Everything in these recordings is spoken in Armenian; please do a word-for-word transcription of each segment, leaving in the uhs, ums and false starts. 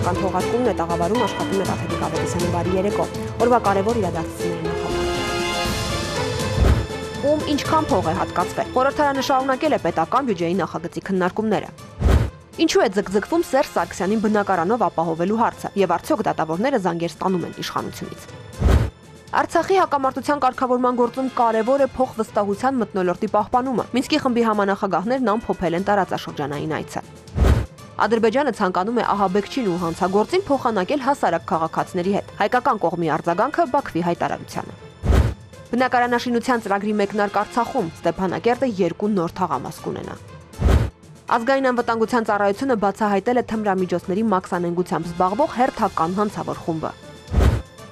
Պետական թողարկումն է, տաղավարում աշխատում է Տաթևիկ Ավետիսյանի բարի երեկո։ Օրվա կարևոր իրադարձությունների նախագծում։ Ում ինչքան փող է հատկացվել։ Խորհրդարանը շարունակել է պետական բյուջեի նախագծի քննարկումները։ Ինչու է ձգձգվում Սերժ Սարգսյանին բնակարանով ապահովելու հարցը եւ արդյոք դատավորները զանգեր ստանում են իշխանությունից։ Արցախի հակամարտության կարգավորման գործում կարևոր է փոխվստահության մթնոլորտի պահպանումը։ Մինսկի խմբի համանախագահներն ամփոփել են տարածաշրջանային այցը։ Ադրբեջանը ցանկանում է ահաբեկչին ու հանցագործին փոխանակել հասարակ քաղաքացիների հետ։ Հայկական կողմի արձագանքը Բաքվի հայտարարությանը։ Բնակարանաշինության ծրագրի մեկնարկ Արցախում Ստեփանակերտը երկու նոր թաղամաս կունենա։ Ազգային անվտանգության ծառայությունը բացահայտել է թմրամիջոցների մաքսանենգությամբ զբաղվող հերթական հանցավոր խումբը։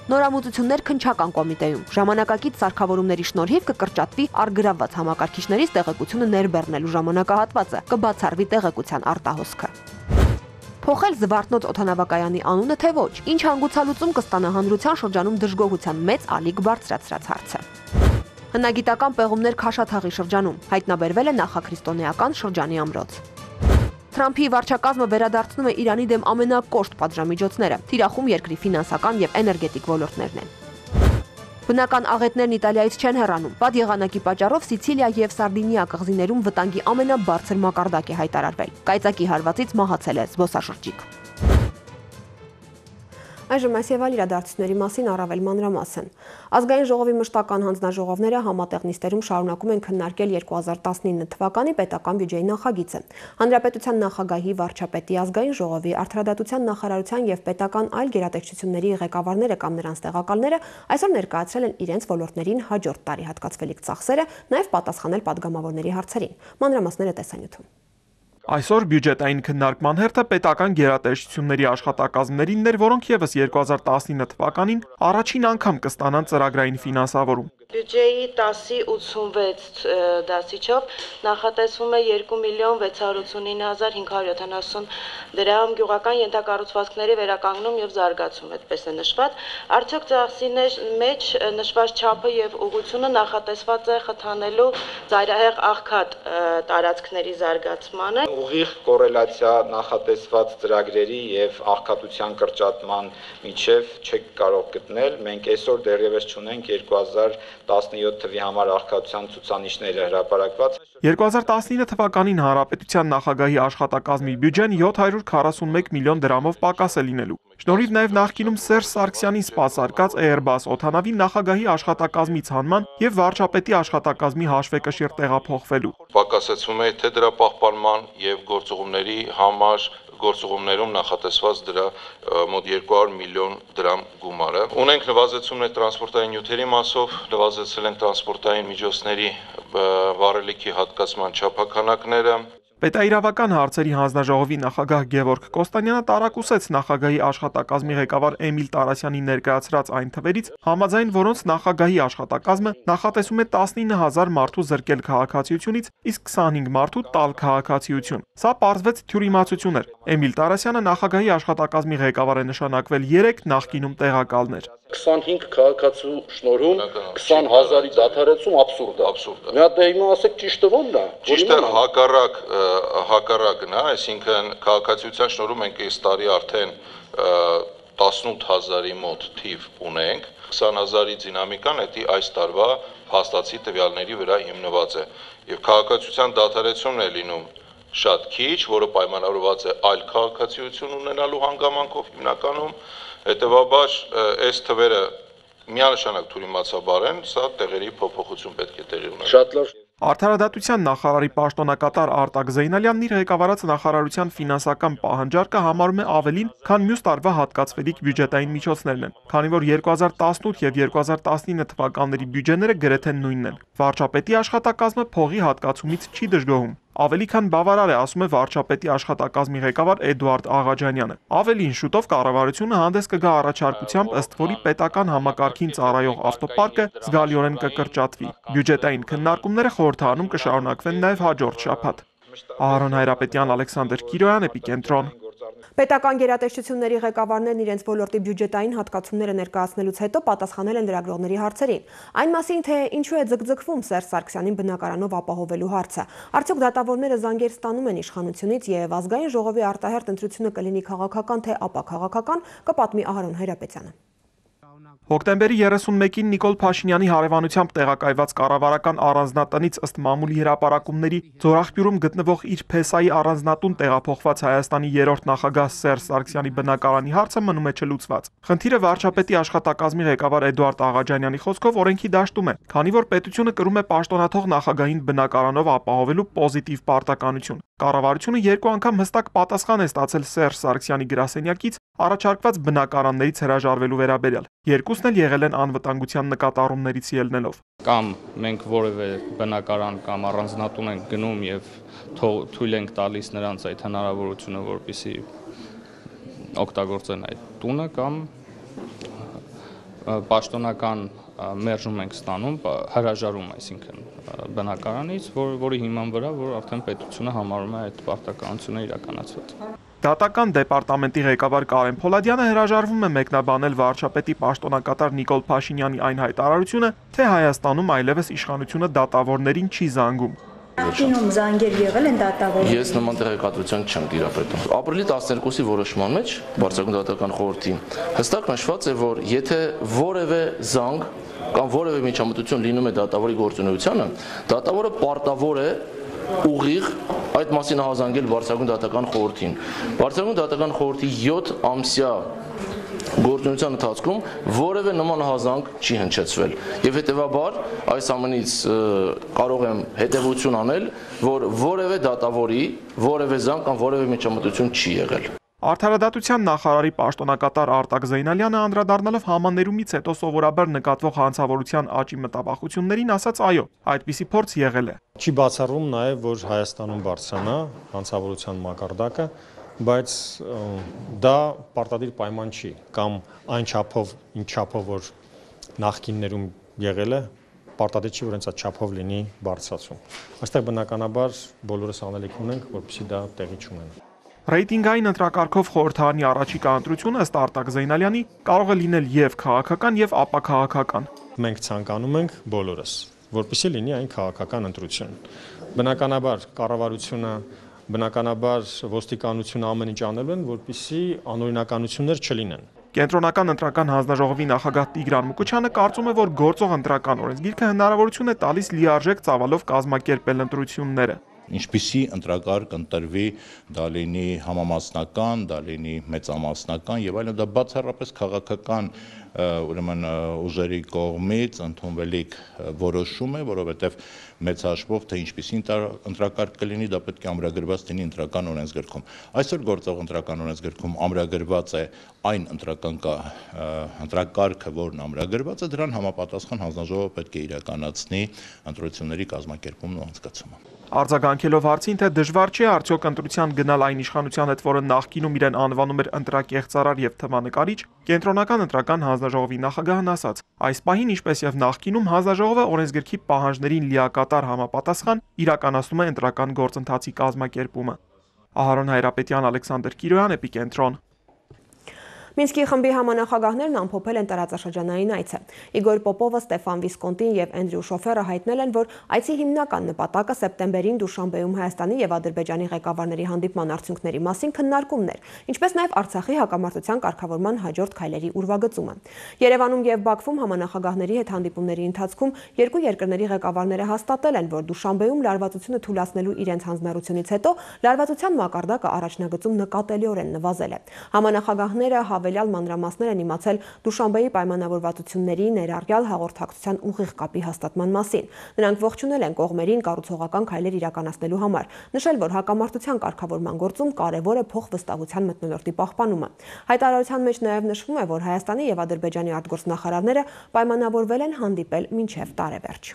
Նորամուծություններ քննչական կոմիտեում ժամանակակից սարքավորումների շնորհիվ կկրճատվի առգրավված համակարգիչներից տեղեկությունը ներբեռնելու ժամանակահատվածը, կբացառվի տեղեկության արտահոսքը։ Փոխել Զվարթնոց օդանավակայանի անունը թե ոչ, ինչ հանգուցալուծում կստանա հանրության շրջանում դժգոհության մեծ ալիք բարձրացրած հարցը։ Հնագիտական պեղումներ Քաշաթաղի շրջանում հայտնաբերվել է նախաքրիստոնեական շրջանի ամրոց։ Թրամփի վարչակազմը վերադարձնում է Իրանի դեմ ամենակոշտ պատժամիջոցները, թիրախում երկրի ֆինանսական եւ էներգետիկ ոլորտներն են։ Բնական աղետներն Իտալիայից չեն հեռանում։ Բադ եղանակի պատճառով Սիցիլիա եւ Սարդինիա կղզիներում վտանգի ամենաբարձր մակարդակ է հայտարարվել։ Կայծակի հարվածից մահացել է զբոսաշրջիկ։ Այժմ այս եւ այլ իրադարձությունների մասին առավել մանրամասն։ Ազգային ժողովի մշտական հանձնաժողովները համատեղ նիստերում շարունակում են քննարկել երկու հազար տասնինը թվականի պետական բյուջեի նախագիծը։ Հանրապետության նախագահի, վարչապետի, ազգային ժողովի, արդարադատության նախարարության եւ պետական այլ գերատեսչությունների ղեկավարները կամ նրանց տեղակալները այսօր ներկայացրել են իրենց ոլորտներին հաջորդ տարի հատկացվելիք ծախսերը, նաեւ պատասխանել падգամավորների հարցերին։ Մանրամասները տեսանյութում։ Այսօր բյուջետային քննարկման հերթը պետական գերատեսչությունների աշխատակազմներինն էր, որոնք եւս երկու հազար տասնինը թվականին առաջին անգամ կստանան ծրագրային ֆինանսավորում։ Բյուջեի տասի ութսունվեց դասիչով նախատեսվում է երկու միլիոն վեց հարյուր ութսունինը հազար հինգ հարյուր յոթանասուն դրամ գյուղական ենթակառուցվածքների վերականգնում եւ զարգացում, այդպես է նշված։ Արդյոք ծախսի մեջ նշված չափը եւ ուղղությունը նախատեսված է խթանելու ծայրահեղ աղքատ տարածքների զարգացմանը։ Ուղիղ կորելացիա նախատեսված ծրագրերի եւ աղքատության կրճատման միջև չեք կարող գտնել։ Մենք այսօր դեռևս չունենք երկու հազար տասնյոթ թվի համար աղքատության ցուցանիշները հրապարակված։ երկու հազար տասնինը թվականին հանրապետության նախագահի աշխատակազմի բյուջեն յոթ հարյուր քառասունմեկ միլիոն դրամով պակաս է լինելու։ Շնորհիվ նաև նախկինում Սերժ Սարգսյանին սպասարկած Airbus օդանավի նախագահի աշխատակազմի ցանման եւ վարչապետի աշխատակազմի հաշվեկշիռ տեղափոխվելու։ Պակասեցվում է թե դրա պահպանման եւ գործողումների համար գործողումներում նախատեսված դրա մոտ երկու հարյուր միլիոն դրամ գումարը։ Ունենք նվազեցումներ տրանսպորտային նյութերի մասով, նվազեցել են տրանսպորտային միջոցների վառելիքի հատկացման չափաքանակները։ Պետաիրավական հարցերի հանձնաժողովի նախագահ Գևորգ Կոստանյանը տարակուսեց նախագահի աշխատակազմի ղեկավար Էմիլ Տարասյանի ներկայացրած այն թվերից, համաձայն որոնց նախագահի աշխատակազմը նախատեսում է տասնինը հազար մարդու զրկել քաղաքացիությունից, իսկ քսանհինգ մարդու տալ քաղաքացիություն։ Սա պարզվեց թյուրիմացություն էր։ Էմիլ Տարասյանը նախագահի աշխատակազմի ղեկավար է նշանակվել երեք, նախկինում տեղակալներ։ քսանհինգ քաղաքացու շնորհում քսան հազարի դադարեցում աբսուրդ է, աբսուրդ է։ Մի հատ դե հիմա ասեք ճիշտը ո՞նն է։ Ճիշտը հակառակ հակառակն է, այսինքն քաղաքացիության շնորհում մենք այս տարի արդեն տասնութ հազարի մոտ թիվ ունենք, քսան հազարի դինամիկան դա այս տարվա փաստացի տվյալների վրա հիմնված է։ Եվ քաղաքացիության դադարեցումն է լինում շատ քիչ, որը պայմանավորված է այլ քաղաքացիություն ունենալու հանգամանքով հիմնականում, հետևաբար այս թվերը միանշանակ թյուրիմացաբար են, սա տեղերի փոփոխություն պետք է տեղի ունենա։ Շատ լավ։ Արդարադատության նախարարի պաշտոնակատար Արտակ Զեյնալյանն իր ղեկավարած նախարարության ֆինանսական պահանջարկը համարում է ավելին, քան մյուս տարվա հատկացվելիք բյուջետային միջոցներն են, քանի որ երկու հազար տասնութ եւ երկու հազար տասնինը թվականների բյուջեները գրեթե նույնն են։ Վարչապետի աշխատակազմը փողի հատկացումից չի դժգոհում։ Ավելի քան բավարար է, ասում է վարչապետի աշխատակազմի ղեկավար Էդուարդ Աղաջանյանը։ Ավելին, շուտով կառավարությունը հանդես կգա առաջարկությամբ, ըստ որի պետական համակարգին ծառայող ավտոպարկը զգալիորեն կկրճատվի։ Բյուջետային քննարկումները խորհրդարանում կշարունակվեն նաև հաջորդ շաբաթ։ Ահարոն Հայրապետյան, Ալեքսանդր Կիրոյան, Էպիկենտրոն։ Պետական գերատեսչությունների ղեկավարներն իրենց ոլորտի բյուջետային հատկացումները ներկայացնելուց հետո պատասխանել են լրագրողների հարցերին։ Այն մասին, թե ինչու է ձգձգվում Սերժ Սարգսյանին բնակարանով ապահովելու հարցը, արդյոք դատավորները զանգեր ստանում են իշխանությունից եւ ազգային ժողովի արտահերթ ընտրությունը կլինի քաղաքական թե ապաքաղաքական, կպատմի Ահարոն Հայրապետյանը։ Հոկտեմբերի երեսունմեկին Նիկոլ Փաշինյանի հարևանությամբ տեղակայված կառավարական առանձնատնից ըստ մամուլի հրապարակումների Ձորախբյուրում գտնվող իր փեսայի առանձնատուն տեղափոխված Հայաստանի երրորդ նախագահ Սերժ Սարգսյանի բնակարանի հարցը մնում է չլուծված։ Խնդիրը վարչապետի աշխատակազմի ղեկավար Էդուարդ Աղաջանյանի խոսքով օրենքի դաշտում է, քանի որ պետությունը կրում է պաշտոնաթող նախագահին բնակարանով ապահովելու պոզիտիվ պարտականություն։ Կառավարությունը երկու անգամ հստակ պատասխան է ստացել Սերժ Սարգսյանի գրասենյակից առաջարկված բնակարաններից հրաժարվելու վերաբերյալ։ Երկուսն էլ եղել են անվտանգության նկատառումներից ելնելով։ Կամ մենք որևէ բնակարան կամ առանձնատուն ենք գնում եւ թույլ ենք տալիս նրանց այդ հնարավորությունը, որպեսզի օգտագործեն այդ տունը, կամ պաշտոնական մերժում ենք ստանում, հրաժարում, այսինքն բնակարանից, որ, որի հիման վրա, որ արդեն պետությունը համարում է այդ պարտականությունը իրականացված։ Դատական դեպարտամենտի ղեկավար Կարեն Փոլադյանը հրաժարվում է մեկնաբանել վարչապետի պաշտոնակատար Նիկոլ Փաշինյանի այն հայտարարությունը, թե Հայաստանում այլևս իշխանությունը դատավորներին չի զանգում։ Նախկինում զանգեր եղել են դատավոր։ Ես նման տեղեկատվություն չեմ տիրապետում։ Ապրիլի տասներկուսի որոշման մեջ Բարձրագույն դատական խորհրդի հստակ նշված է, որ եթե որևէ զանգ կամ որևէ միջամտություն լինում է դատավորի գործունեությանը, դատավորը պարտավոր է ուղիղ այդ մասին հազանգել Բարձրագույն դատական խորհրդին։ Բարձրագույն դատական խորհրդի յոթ ամսյա գործունեության ընթացքում որևէ նման հազանգ չի հնչեցվել եւ հետեւաբար այս ամենից կարող եմ հետեւություն անել, որ որևէ դատավորի որևէ զանգ կամ որևէ միջամտություն չի եղել։ Արդարադատության նախարարի պաշտոնակատար Արտակ Զեյնալյանը անդրադառնալով համաներումից հետո սովորաբար նկատվող հանցավորության աճի մտավախություններին ասաց այո, այդպիսի փորձ եղել է։ Չի բացառվում նաև, որ Հայաստանում բարձրանա հանցավորության մակարդակը, բայց դա պարտադիր պայման չի, կամ այն չափով, ինչ չափով որ նախկիններում եղել է, պարտադիր չի, որ հենց այդ չափով լինի բարձրացում։ Այստեղ բնականաբար բոլորս անելիք ունենք, որպեսզի դա տեղի չունենա։ Ռեյտինգային ընտրակարգով խորհրդարանի առաջիկա ընտրությունը ըստ Արտակ Զեյնալյանի կարող է լինել եւ քաղաքական եւ ապաքաղաքական։ Մենք ցանկանում ենք բոլորս, որպեսզի լինի այն քաղաքական ընտրություն։ Բնականաբար կառավարությունը, բնականաբար ոստիկանությունը ամեն ինչ անելու են, որպեսզի անօրինականություններ չլինեն։ Կենտրոնական ընտրական հանձնաժողովի նախագահ Տիգրան Մուկուչյանը կարծում է, որ գործող ընտրական օրենսգիրքը հնարավորություն է տալիս լիարժեք ծավալով կազմակերպել ընտրությունները։ Ինչպիսի ընտրակարգ ընտրվի, դա լինի համամասնական, դա լինի մեծամասնական եւ այլն, դա բացառապես քաղաքական ուրեմն ուժերի կողմից ընդունվելիք որոշում է, որովհետեւ մեծ հաշվով թե ինչպիսի ընտրակարգ կլինի, դա պետք է ամրագրված լինի ընտրական օրենսգրքում։ Այսօր գործող ընտրական օրենսգրքում ամրագրված է այն ընտրական ընտրակարգը, որն ամրագրված է, դրան համապատասխան հանձնաժողովը պետք է իրականացնի ընտրությունների կազմակերպումն ու անցկացումը։ Արձագանքելով հարցին, թե դժվար չէ արդյոք ընտրության գնալ այն իշխանության հետ, որը նախկինում իրեն անվանում էր ընտրակեղծարար եւ թվանկարիչ, կենտրոնական ընտրական հանձնաժողովի նախագահն ասաց. այս պահին, ինչպես եւ նախկինում, հանձնաժողովը օրենսգրքի պահանջներին լիակատար համապատասխան իրականացնում է ընտրական գործընթացի կազմակերպումը։ Ահարոն Հայրապետյան, Ալեքսանդր Կիրոյան, Էպիկենտրոն։ Մինսկի խմբի համանախագահներն ամփոփել են տարածաշրջանային այցը։ Իգոր Պոպովը, Ստեֆան Վիսկոնտին եւ Էնդրյու Շոֆերը հայտնել են, որ այցի հիմնական նպատակը սեպտեմբերին Դուշանբեում Հայաստանի եւ Ադրբեջանի ղեկավարների հանդիպման արդյունքների մասին քննարկումն էր, ինչպես նաեւ Արցախի հակամարտության կարգավորման հաջորդ քայլերի ուրվագծումը։ Երևանում եւ Բաքվում համանախագահների հետ հանդիպումների ընթացքում երկու երկրների ղեկավարները հաստատել են, որ Դուշանբեում լարվածությունը թույլատնելու իրենց հանձնառությունից հետո լարվածության մակարդակը առաջնագծում նկատելիորեն նվազել է։ Համանախագահները հավելյալ մանրամասներ են իմացել Դուշանբեի պայմանավորվածությունների ներառյալ հաղորդակցության ուղիղ կապի հաստատման մասին։ Նրանք ողջունել են կողմերին կառուցողական քայլեր իրականացնելու համար, նշել, որ հակամարտության կարգավորման գործում կարևոր է փոխվստահության մթնոլորտի պահպանումը։ Հայտարարության մեջ նաև նշվում է, որ Հայաստանի եւ Ադրբեջանի արտգործնախարարները պայմանավորվել են հանդիպել մինչև տարեվերջ։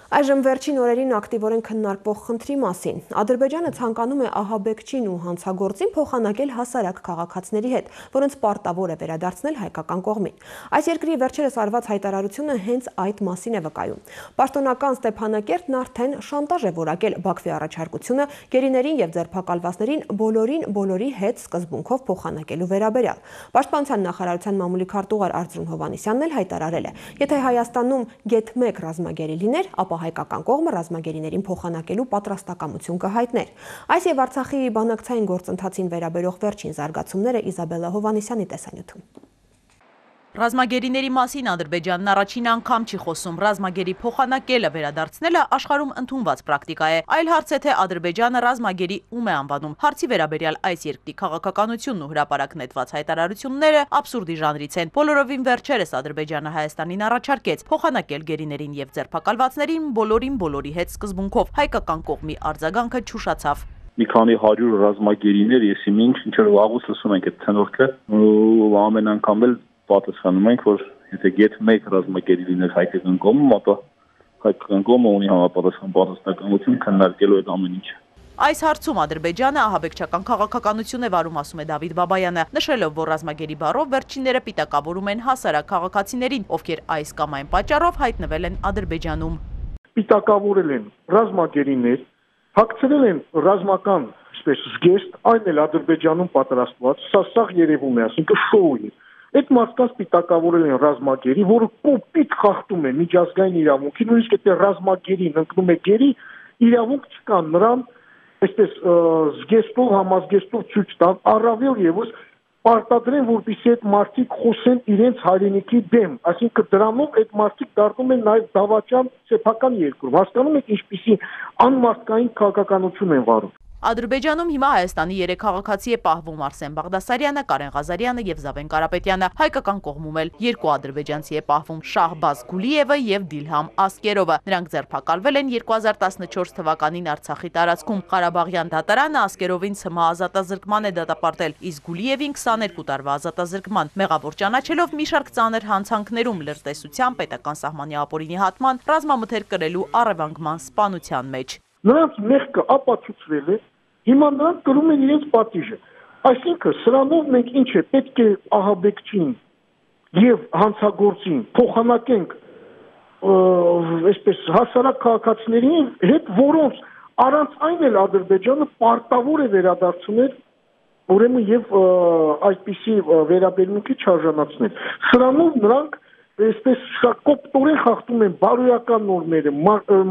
Այժմ վերջին օրերին ակտիվորեն քննարկվող խնդրի մասին։ Ադրբեջանը ցանկանում է ահաբեկչին ու հանցագործին փոխանակել հասարակ քաղաքացիների հետ, որոնց պարտավոր է վերադարձնել հայկական կողմին։ Այս երկրի վերջերս արված հայտարարությունը հենց այդ մասին է վկայում։ Պաշտոնական Ստեփանակերտն արդեն շանտաժ է որակել Բաքվի առաջարկությունը գերիներին եւ ձերբակալվածներին բոլորին բոլորի հետ սկզբունքով փոխանակելու վերաբերյալ։ Պաշտպանության նախարարության մամուլի քարտուղար Արծրուն Հովհաննիսյանն էլ հայտարարել է. Եթե Հայաստանում գեթ մեկ ռազմագերի լիներ, ապա հայկական կողմը ռազմագերիներին փոխանակելու պատրաստակամություն կհայտներ։ Այս եւ Արցախի բանակցային գործընթացին վերաբերող վերջին զարգացումները Իզաբելլա Հովհաննիսյանի տեսանյութում։ Ռազմագերիների մասին Ադրբեջանն առաջին անգամ չի խոսում։ Ռազմագերի փոխանակելը վերադարձնելը աշխարհում ընդունված պրակտիկա է։ Այլ հարց է, թե Ադրբեջանը ռազմագերի ում է անվանում։ Հարցի վերաբերյալ այս երկրի քաղաքականությունն ու հրապարակ նետված հայտարարությունները աբսուրդի ժանրից են։ Բոլորովին վերջերս Ադրբեջանը Հայաստանին առաջարկեց փոխանակել գերիներին եւ ձերբակալվածներին բոլորին բոլորի հետ սկզբունքով։ Հայկական կողմի արձագանքը չուշացավ։ Մի քանի հարյուր ռազմագերիներ, եսի ինչ ինչ որ վաղուց լսում ենք այդ ցնորքը, ու ամեն անգամ էլ պատասխանում ենք, որ եթե գեթ մեկ ռազմագերի լիներ հայկական կողմում, ապա հայկական կողմը ունի համապատասխան պատասխանատվություն քննարկելու այդ ամեն ինչը։ Այս հարցում Ադրբեջանը ահաբեկչական քաղաքականություն է վարում, ասում է Դավիթ Բաբայանը, նշելով, որ ռազմագերի բառով վերջինները պիտակավորում են հասարակ քաղաքացիներին, ովքեր այս կամ այն պատճառով հայտնվել են Ադրբեջանում։ Պիտակավորել են ռազմագերիներ, հագցրել են ռազմական զգեստ, այն էլ Ադրբեջանում պատրաստված, սա սաղ երևում է, ասինքն շոու է։ Այդ մարդկանց պիտակավորել են ռազմագերի, որը կոպիտ խախտում է միջազգային իրավունքի, նույնիսկ եթե ռազմագերին ընկնում է գերի, իրավունք չկա նրան այսպես զգեստով, համազգեստով ցույց տան, առավել եւս պարտադրեն, որպեսզի այդ մարդիկ խոսեն իրենց հայրենիքի դեմ, այսինքն դրանով այդ մարդիկ դառնում են նաեւ դավաճան սեփական երկրում։ Հասկանում եք ինչպիսի անմարդկային քաղաքականություն են վարում։ Ադրբեջանում հիմա Հայաստանի երեք քաղաքացի է պահվում Արսեն Բաղդասարյանը, Կարեն Ղազարյանը եւ Զավեն Կարապետյանը։ Հայկական կողմում էլ երկու ադրբեջանցի է պահվում Շահբազ Գուլիևը եւ Դիլհամ Ասկերովը։ Նրանք ձերբակալվել են երկու հազար տասնչորս թվականին Արցախի տարածքում։ Ղարաբաղյան դատարանը Ասկերովին ցմահ ազատազրկման է դատապարտել, իսկ Գուլիևին քսաներկու տարվա ազատազրկման։ Մեղավոր ճանաչելով մի շարք ծանր հանցանքներում լրտեսության, պետական սահմանի ապօրինի հատման, ռազմամթերք կրելու առևանգման սպանության մեջ։ Նրանց մեղքը ապացուցվել է, հիմա նրանք կրում են իրենց պատիժը։ Այսինքն սրանով մենք ինչ է, պետք է ահաբեկչին եւ հանցագործին փոխանակենք այսպես հասարակ քաղաքացիների հետ, որոնց առանց այն էլ Ադրբեջանը պարտավոր է վերադարձնել, ուրեմն եւ այդպիսի վերաբերմունքի չարժանացնել։ Սրանով նրանք այսպես կոպտորեն խախտում են բարոյական նորմերը,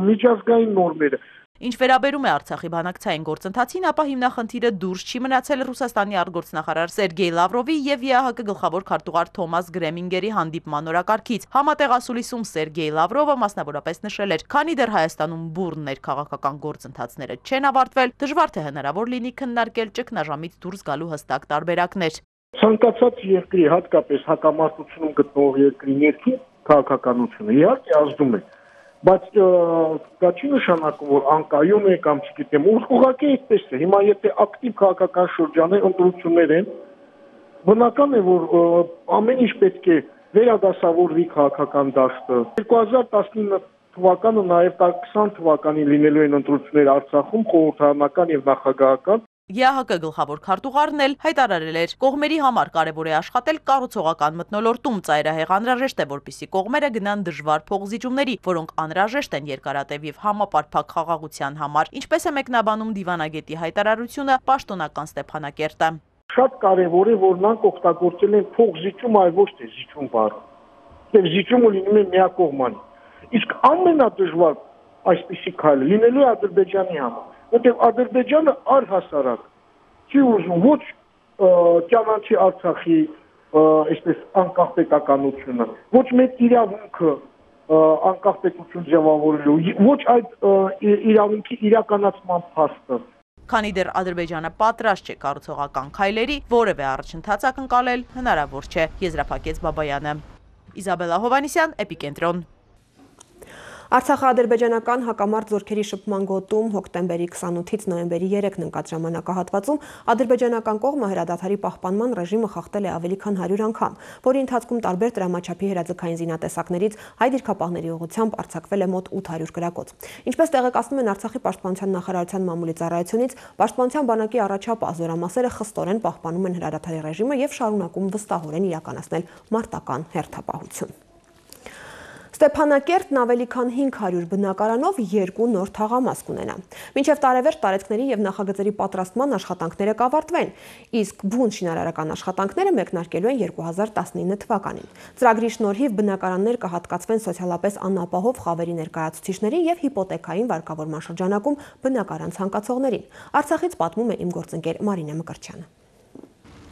միջազգային նորմերը։ Ինչ վերաբերում է Արցախի բանակցային գործընթացին, ապա հիմնախնդիրը դուրս չի մնացել Ռուսաստանի արտգործնախարար Սերգեյ Լավրովի եւ ԵԱՀԿ գլխավոր քարտուղար Թոմաս Գրեմինգերի հանդիպման օրակարգից։ Համատեղ ասուլիսում Սերգեյ Լավրովը մասնավորապես նշել էր, քանի դեռ Հայաստանում բուռն ներքաղաքական գործընթացները չեն ավարտվել, դժվար թե հնարավոր լինի քննարկել ճգնաժամից դուրս գալու հստակ տարբերակներ։ Ցանկացած երկրի, հատկապես հակամարտությունում գտնվող երկրի ներքին քաղաքականությունը իհարկե ազդում է, բայց դա չի նշանակում, որ անկայուն է կամ չգիտեմ, ուղղակի այդպես է։ Հիմա եթե ակտիվ քաղաքական շրջանի ընտրություններ են, բնական է, որ ամեն ինչ պետք է վերադասավորվի քաղաքական դաշտը։ երկու հազար տասնինը թվականը նաև քսան թվականին լինելու են ընտրություններ Արցախում, խորհրդարանական եւ նախագահական։ ԵԱՀԿ գլխավոր քարտուղարն էլ հայտարարել էր, կողմերի համար կարևոր է աշխատել կառուցողական մթնոլորտում, ծայրահեղ անհրաժեշտ է, որպեսզի կողմերը գնան դժվար փոխզիջումների, որոնք անհրաժեշտ են երկարատև եւ համապարփակ խաղաղության համար, ինչպես է մեկնաբանում դիվանագետի հայտարարությունը պաշտոնական Ստեփանակերտը։ Շատ կարևոր է, որ նրանք օգտագործել են փոխզիջում, այլ ոչ թե զիջում բառը։ Եվ զիջումը լինում է միակողմանի։ Իսկ ամենադժվար այսպիսի քայլը լինելու է Ադրբեջանի համար, որտեղ Ադրբեջանը առհասարակ չի ուզում ոչ ճանաչի Արցախի այսպես անկախ պետականությունը, ոչ մեկ իրավունքը անկախ պետություն ձևավորելու, ոչ այդ իրավունքի իրականացման փաստը։ Քանի դեռ Ադրբեջանը պատրաստ չէ կառուցողական քայլերի, որևէ առաջընթաց ակնկալել հնարավոր չէ, եզրափակեց Բաբայանը։ Իզաբելլա Հովհաննիսյան, Էպիկենտրոն։ Արցախա-ադրբեջանական հակամարտ զորքերի շփման գոտում հոկտեմբերի քսանութից նոյեմբերի երեքն ընկած ժամանակահատվածում ադրբեջանական կողմը հրադադարի պահպանման ռեժիմը խախտել է ավելի քան հարյուր անգամ, որի ընթացքում տարբեր դրամաչափի հրաձգային զինատեսակներից հայ դիրքապահների ուղղությամբ արձակվել է մոտ ութ հարյուր գրակոց։ Ինչպես տեղեկացնում են Արցախի պաշտպանության նախարարության մամուլի ծառայությունից, պաշտպանության բանակի առաջապահ զորամասերը խստորեն պահպանում են հրադադարի ռեժիմը եւ շարունակում վստահորեն իրականացնել մարտական հերթապահություն։ Ստեփանակերտն ավելի քան հինգ հարյուր բնակարանով երկու նոր թաղամաս կունենա։ Մինչև տարեվերջ տարածքների եւ նախագծերի պատրաստման աշխատանքները կավարտվեն, իսկ բուն շինարարական աշխատանքները մեկնարկելու են երկու հազար տասնինը թվականին։ Ծրագրի շնորհիվ բնակարաններ կհատկացվեն սոցիալապես անապահով խավերի ներկայացուցիչներին եւ հիպոթեքային վարկավորման շրջանակում բնակարան ցանկացողներին։ Արցախից պատմում է իմ գործընկեր Մարինե Մկրտչյանը։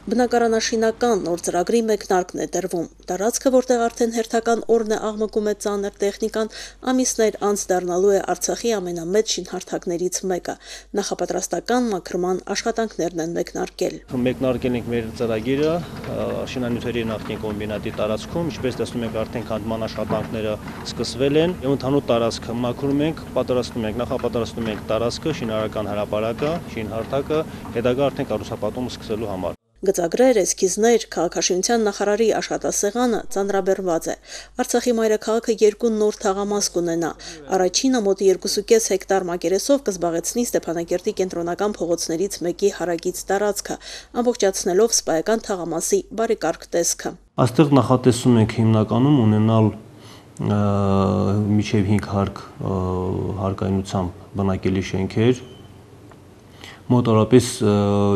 Բնակարանաշինական նոր ծրագրի մեկնարկն է տրվում։ Տարածքը, որտեղ արդեն հերթական օրն է աղմկում է ծանր տեխնիկան, ամիսներ անց դառնալու է Արցախի ամենամեծ շինհարթակներից մեկը։ Նախապատրաստական մաքրման աշխատանքներն են մեկնարկել։ Մեկնարկել ենք մեր ծրագիրը շինանյութերի նախկին կոմբինատի տարածքում, ինչպես տեսնում եք, արդեն քանդման աշխատանքները սկսվել են։ Եվ ընդհանուր տարածքը մաքրում ենք, պատրաստում ենք, նախապատրաստում ենք տարածքը, շինարարական հրապարակը, շինհարթակը, հետագա արդեն կառուցապատումը սկսելու համար։ Գծագրեր, էսքիզներ, քաղաքաշինության նախարարի աշխատասեղանը ծանրաբեռնված է։ Արցախի մայրաքաղաքը երկու նոր թաղամաս կունենա։ Առաջինը մոտ երկուսուկես հեկտար մակերեսով կզբաղեցնի Ստեփանակերտի կենտրոնական փողոցներից մեկի հարակից տարածքը, ամբողջացնելով սպայական թաղամասի բարեկարգ տեսքը։ Այստեղ նախատեսում ենք հիմնականում ունենալ միջև հինգ հարկ հարկայնությամբ բնակելի շենքեր, մոտավորապես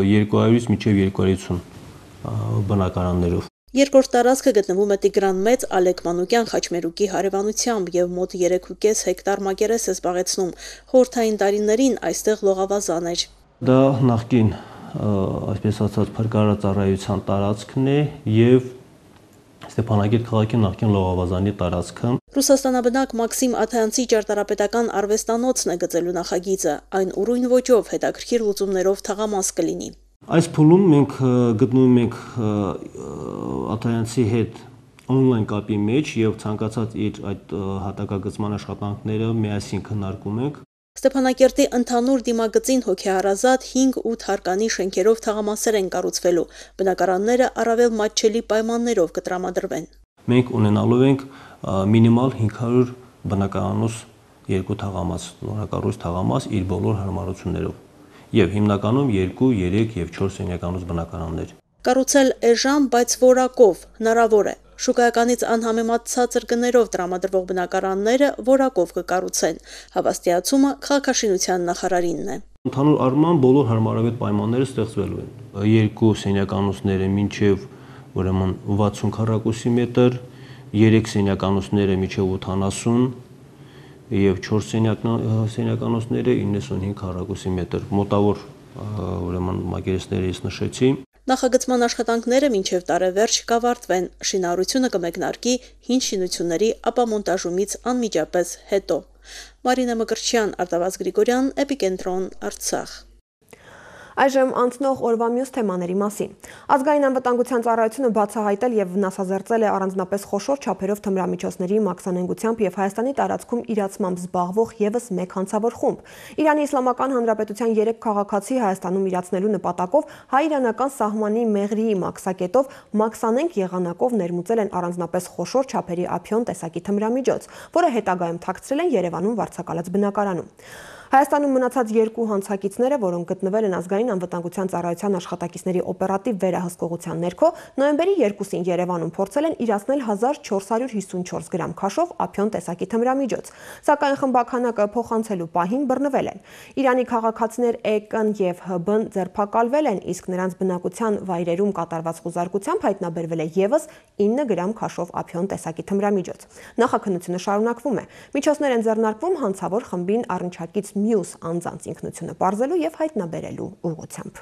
երկու հարյուրից մինչև երկու հարյուր ութ բնակարաններով։ Երկրորդ տարածքը գտնվում է Տիգրան Մեծ Ալեք Մանուկյան խաչմերուկի հարևանությամբ եւ մոտ երեքուկես հեկտար մակերես է զբաղեցնում։ Խորհրդային տարիներին այստեղ լողավազան էր։ Դա նախկին, այսպես ասած, փրկարարծառայության տարածքն է եւ Ստեփանակերտ քաղաքի նախկին լողավազանի տարածքը։ Ռուսաստանաբնակ Մաքսիմ Աթայանցի ճարտարապետական արվեստանոցն է գծելու նախագիծը, այն ուրույն ոճով հետաքրքիր լուծումներով թաղամաս կլինի։ Այս փուլում մենք գտնվում ենք Աթայանցի հետ on-line կապի մեջ եւ ցանկացած իր այդ հատակագծման աշխատանքները միասին քննարկում ենք։ Ստեփանակերտի ընդհանուր դիմագծին հոգեհարազատ հինգ-ութ հարկանի շենքերով թաղամասեր են կառուցվելու։ Բնակարանները առավել մատչելի պայմաններով կտրամադրվեն։ Մենք ունենալու ենք մինիմալ հինգ հարյուր բնակարանոց երկու թաղամաս, նորակառույց թաղամաս իր բոլոր հարմարություններով եւ հիմնականում երկու, երեք եւ չորս սենյականոց բնակարաններ։ Կառուցել էժան, բայց որակով հնարավոր է։ Շուկայականից անհամեմատ ցածր գներով տրամադրվող բնակարանները որակով կկառուցեն։ Հավաստիացումը քաղաքաշինության նախարարինն է։ Ընդհանուր առմամբ բոլոր հարմարավետ պայմանները ստեղծվելու են։ Երկու սենյականոցները մինչև ուրեմն վաթսուն քառակուսի մետր, երեք սենյականոցները մինչև ութանասուն եւ չորս սենյականոցները իննսունհինգ քառակուսի մետր։ Մոտավոր ուրեմն մակերեսները ես նշեցի։ Նախագծման աշխատանքները մինչև տարեվերջ կավարտվեն, շինարարությունը կմեկնարկի հին շինությունների ապամոնտաժումից անմիջապես հետո։ Մարինե Մկրտչյան, Արտավազդ Գրիգորյան, Էպիկենտրոն, Արցախ։ Այժմ անցնող օրվա մյուս թեմաների մասին։ Ազգային անվտանգության ծառայությունը բացահայտել եւ վնասազերծել է առանձնապես խոշոր չափերով թմրամիջոցների մաքսանենգությամբ եւ Հայաստանի տարածքում իրացմամբ զբաղվող եւս մեկ հանցավոր խումբ։ Իրանի Իսլամական Հանրապետության երեք քաղաքացի Հայաստանում իրացնելու նպատակով հայ-իրանական սահմանի Մեղրիի մաքսակետով մաքսանենգ եղանակով ներմուծել են առանձնապես խոշոր չափերի ափիոն տեսակի թմրամիջոց, որը հետագայում թաքցրել են Երևանում վարձակալած բնակարանում։ Հայաստանում մնացած երկու հանցակիցները, որոնք գտնվել են ազգային անվտանգության ծառայության աշխատակիցների օպերատիվ վերահսկողության ներքո, նոյեմբերի երկուսին Երևանում փորձել են իրացնել հազար չորս հարյուր հիսունչորս գրամ քաշով ափիոն տեսակի թմրամիջոց, սակայն խմբականակը փոխանցելու պահին բռնվել են։ Իրանի քաղաքացիներ Է.Կ.-ն եւ Հ.B.-ն ձերբակալվել են, իսկ նրանց բնակության վայրերում կատարված խուզարկությամբ հայտնաբերվել է եւս ինը գրամ քաշով ափիոն տեսակի թմրամիջոց։ Նախաքննությունը շարունակվում է։ Միջոցներ են ձեռնարկվում հանցավոր խմբին առնչակից մյուս անձանց ինքնությունը պարզելու եւ հայտնաբերելու ուղղությամբ։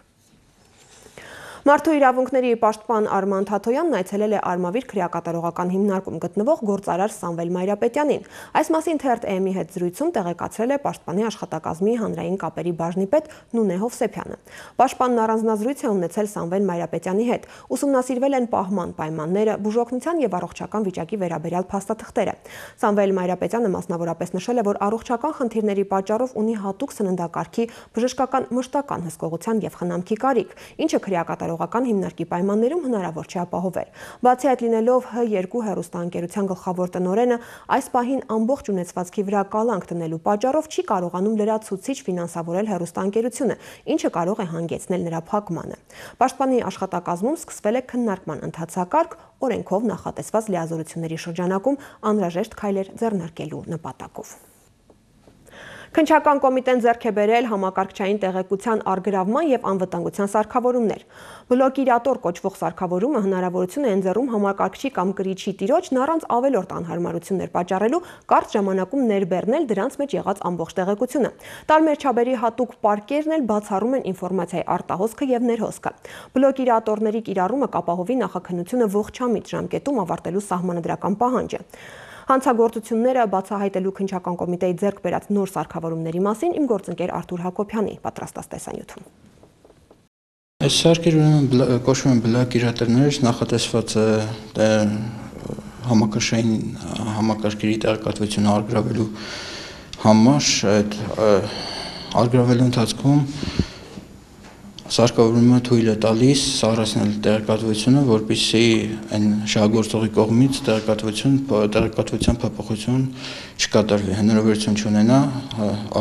Մարդու իրավունքների պաշտպան Արման Թաթոյանն այցելել է Արմավիր քրեակատարողական հիմնարկում գտնվող գործարար Սամվել Մայրապետյանին։ Այս մասին թերթ Էմի հետ զրույցում տեղեկացրել է Պաշտպանի աշխատակազմի հանրային կապերի բաժնի պետ Նունե Հովսեփյանը։ Պաշտպանն առանձնազրույց է ունեցել Սամվել Մայրապետյանի հետ, ուսումնասիրվել են պահման պայմանները, բուժօգնության եւ առողջական վիճակի վերաբերյալ փաստաթղթերը։ Սամվել Մայրապետյանը մասնավորապես նշել է, որ առողջական խնդիրների պատճառով ունի հատուկ սննդակարգի, բժշկական մշտական հսկողության եւ խնամքի կարիք, ինչը քրեակատարողական հիմնարկի պայմաններում հնարավոր չէ ապահովել։ Բացի այդ լինելով Հ երկու հեռուստաընկերության գլխավոր տնօրենը, այս պահին ամբողջ ունեցվածքի վրա կալանք դնելու պատճառով չի կարողանում լրացուցիչ ֆինանսավորել հեռուստաընկերությունը, ինչը կարող է հանգեցնել նրա փակմանը։ Պաշտպանի աշխատակազմում սկսվել է քննարկման ընթացակարգ օրենքով նախատեսված լիազորությունների շրջանակում անհրաժեշտ քայլեր ձեռնարկելու նպատակով։ Քննչական կոմիտեն ձեռք է բերել համակարգչային տեղեկության առգրավման եւ անվտանգության սարքավորումներ։ Բլոկիրատոր կոչվող սարքավորումը հնարավորություն է ընձեռում համակարգչի կամ կրիչի տիրոջն առանց ավելորդ անհարմարություններ պատճառելու կարճ ժամանակում ներբեռնել դրանց մեջ եղած ամբողջ տեղեկությունը։ Տարբեր չափերի հատուկ պարկերն էլ բացառում են ինֆորմացիայի արտահոսքը եւ ներհոսքը։ Բլոկիրատորների կիրառումը կապահովի նախաքննությունը ողջամիտ ժամկետում ավարտելու սահմանադրական պահանջը։ Հանցագործությունները բացահայտելու քննչական կոմիտեի ձեռք բերած նոր սարքավորումների մասին իմ գործընկեր Արթուր Հակոբյանի պատրաստած տեսանյութում։ Այս սարքերը ուրեմն կոչվում են բլոկիրատորներ, նախատեսված է համակարգային համակարգերի տեղեկատվությունը առգրավելու համար, այդ առգրավելու ընթացքում սարքավորումը թույլ է տալիս սառեցնել տեղեկատվությունը, որպեսզի այն շահագործողի կողմից տեղեկատվություն, տեղեկատվության փոփոխություն չկատարվի, հնարավորություն չունենա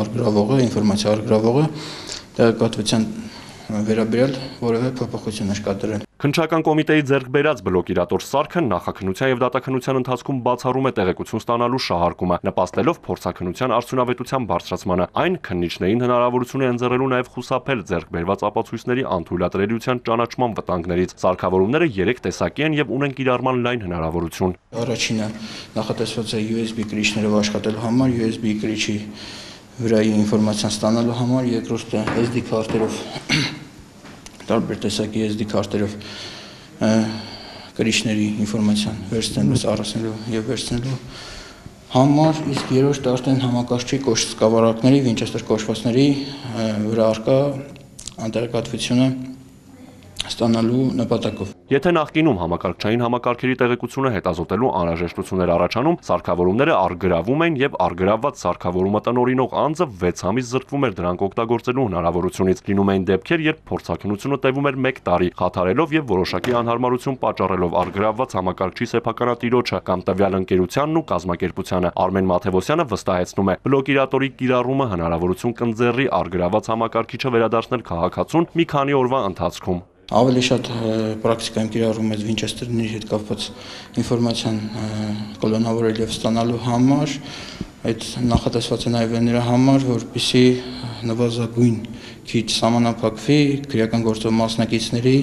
առգրավողը, ինֆորմացիա առգրավողը տեղեկատվության վերաբերյալ որևէ փոփոխություն կատարել։ Քննչական կոմիտեի ձեռք բերած բլոկիրատոր սարքը նախաքննության եւ դատաքննության ընթացքում բացառում է տեղեկություն ստանալու շահարկումը, նպաստելով փորձաքննության արդյունավետության բարձրացմանը։ Այն քննիչներին հնարավորություն է ընձեռելու նաեւ խուսափել ձեռք բերված ապացույցների անթույլատրելիության ճանաչման վտանգներից։ Սարքավորումները երեք տեսակի են եւ ունեն կիրառման լայն հնարավորություն։ Առաջինը նախատեսված է յու էս բի կրիչներով աշխատելու համար, յու էս բի կրիչի վրայի ինֆորմացիան ստանալու համար, երկրորդը էս դի քարտերով տարբեր տեսակի էս դի քարտերով կրիչների ինֆորմացիան վերցնելու, առանցնելու եւ վերցնելու համար, իսկ երրորդը արդեն համակարգչի սկավառակների, Winchester կոչվածների վրա առկա անտեղեկատվությունը ստանալու նպատակով։ Եթե նախկինում համակարգչային համակարգերի տեղեկությունը հետազոտելու անհրաժեշտություններ առաջանում, սարքավորումները առգրավում են եւ առգրավված սարքավորումը տնօրինող անձը վեց ամիս զրկվում էր դրանք օգտագործելու հնարավորությունից։ Լինում էին դեպքեր, երբ փորձաքննությունը տևում էր մեկ տարի, խաթարելով եւ որոշակի անհարմարություն պատճառելով առգրավված համակարգչի սեփականատիրոջը կամ տվյալ ընկերությանն ու կազմակերպությանը։ Արմեն Մաթևոսյանը վստահեցնում է, բլոկիրատորի կիրառումը հնարավորություն կընձեռի առգրավված համակարգիչը վերադարձնել քաղաքացուն մի քանի օրվա ընթացքում։ Ավելի շատ պրակտիկայում կիրառում է Winchester-ների հետ կապված ինֆորմացիան կոլոնավորել եւ ստանալու համար, այդ նախատեսված է նաեւ նրա համար, որպեսզի նվազագույն քիչ սահմանափակվի քրեական գործով մասնակիցների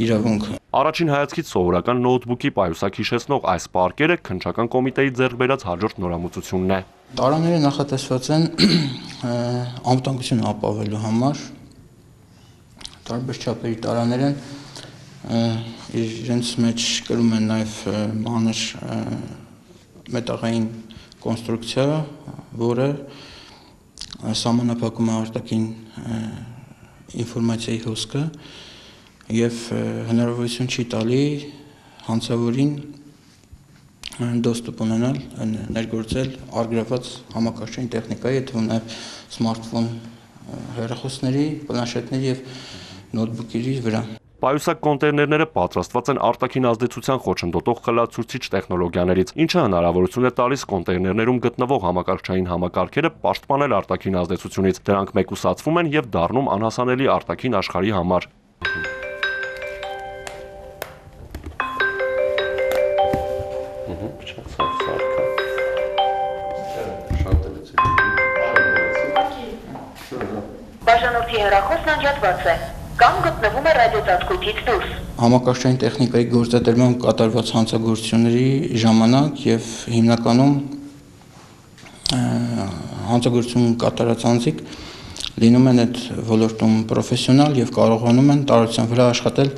իրավունքը։ Առաջին հայացքից սովորական նոթբուքի պայուսակ հիշեցնող այս պարկերը քննչական կոմիտեի ձեռք բերած հաջորդ նորամուծությունն է։ Տարաները նախատեսված են անվտանգություն ապահովելու համար, տարբեր չափերի տարաներ են, իրենց մեջ կրում են նաև մանր մետաղային կոնստրուկցիա, որը սահմանափակում է արտաքին ինֆորմացիայի հոսքը եւ հնարավորություն չի տալի հանցավորին դոստուպ ունենալ, ներգործել առգրավված համակարգչային տեխնիկայի, այդ թվում նաև սմարթֆոն հեռախոսների, պլանշետների եւ նոթբուքերի վրա։ Պայուսակ կոնտեյներները պատրաստված են արտաքին ազդեցության խոչընդոտող խլացուցիչ տեխնոլոգիաներից, ինչը հնարավորություն է տալիս կոնտեյներներում գտնվող համակարգչային համակարգերը պաշտպանել արտաքին ազդեցությունից։ Դրանք մեկուսացվում են եւ դառնում անհասանելի արտաքին աշխարհի համար։ Բաժանորդի հեռախոսն անջատված է կամ գտնվում է ռադիոծածկույթից դուրս։ Համակարգչային տեխնիկայի գործադրմամբ կատարված հանցագործությունների ժամանակ եւ հիմնականում հանցագործություն կատարած անձիկ լինում են այդ ոլորտում պրոֆեսիոնալ եւ կարողանում են տարածության վրա աշխատել